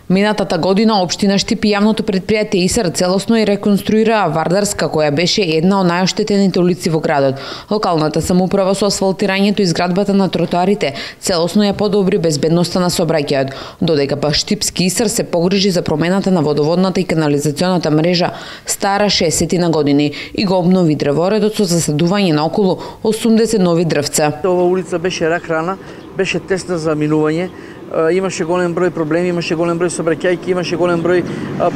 Минатата година општина Штип и јавното претпријатие ИСР целосно и реконструираа Вардарска, која беше една од најоштетените улици во градот. Локалната самоуправа со асфалтирањето и изградбата на тротоарите целосно ја подобри безбедноста на сообраќајот, додека па Штипски ИСР се погрижи за промената на водоводната и канализационата мрежа стара 60 на години и го обнови дрворедот со засадување на околу 80 нови дрвца. Ова улица беше рак рана, беше тесна за минување. Имаше голем број проблеми, имаше голем број сообраќајки, имаше голем број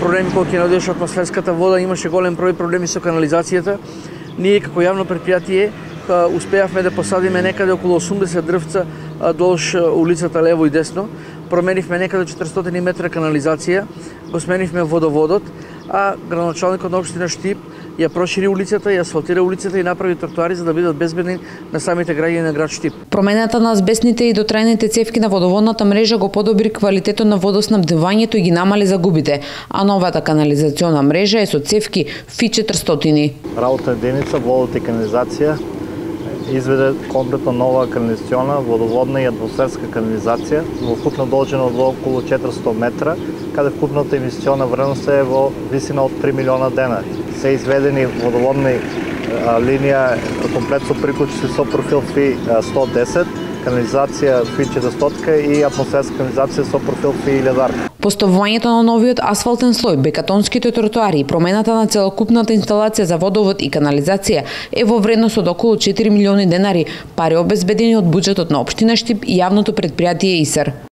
проблеми кога ќе наоѓаше атмосферската вода, имаше голем број проблеми со канализацијата. Ние како јавно претпријатие успеавме да посадиме некаде околу 80 дрвца долж улицата лево и десно. Променивме некаде 400 метра канализација, го сменивме водоводот, а градоначалникот на општина Штип ја прошири улицата, ја асфалтира улицата и направи тротоари за да бидат безбедни на самите граѓани на град Штип. Промената на азбестните и дотрајните цевки на водоводната мрежа го подобри квалитетот на водоснабдувањето и ги намали загубите, а новата канализациона мрежа е со цевки Фи-400. Работна единица водот и канализација изведе комплетно нова канализациона, водоводна и атмосферска канализација во вкупна должина од околу 400 метра, каде вкупната инвестициона вредност е во висина од 3 милиона денари. Се изведени водоводни линија комплет со приклучици со профил Фи-110, канализација Фи-400 и атмосферска канализација со профил Фи-1000. Поставувањето на новиот асфалтен слој, бекатонските тротоари и промената на целокупната инсталација за водовод и канализација е во вредност од околу 4 милиони денари, пари обезбедени од буџетот на општина Штип и јавното претпријатие ИСР.